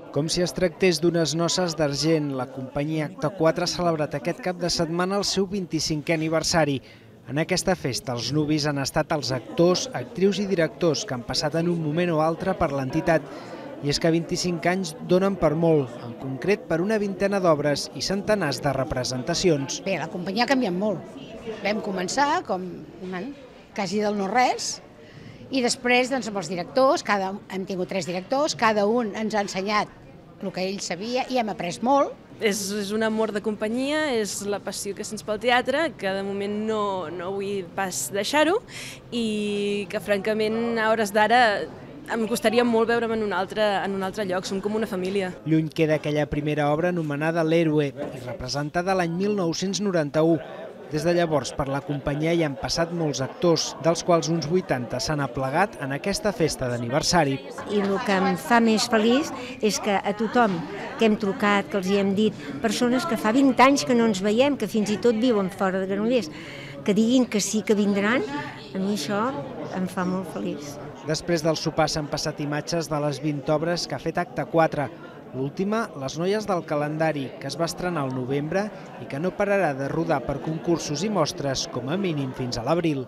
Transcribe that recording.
Com si es tractés d'unes noces d'argent, la companyia Acte 4 ha celebrat aquest cap de setmana el seu 25è aniversari. En aquesta festa, els nuvis han estat els actors, actrius i directors que han passat en un moment o altre per l'entitat. I és que 25 anys donen per molt, en concret per una vintena d'obres i centenars de representacions. Bé, la companyia ha canviat molt. Vam començar com quasi del no-res i després amb els directors, hem tingut 3 directors, cada un ens ha ensenyat el que ell sabia i hem après molt. És un amor de companyia, és la passió que sents pel teatre, que de moment no vull pas deixar-ho i que francament a hores d'ara em costaria molt veure'm en un altre lloc, som com una família. Lluny queda aquella primera obra anomenada L'Héroe i representada l'any 1991. Des de llavors, per la companyia hi han passat molts actors, dels quals uns 80 s'han aplegat en aquesta festa d'aniversari. I el que em fa més feliç és que a tothom que hem trucat, que els hi hem dit, persones que fa 20 anys que no ens veiem, que fins i tot viuen fora de Granollers, que diguin que sí que vindran, a mi això em fa molt feliç. Després del sopar s'han passat imatges de les 20 obres que ha fet Acte 4. L'última, Les noies del calendari, que es va estrenar al novembre i que no pararà de rodar per concursos i mostres com a mínim fins a l'abril.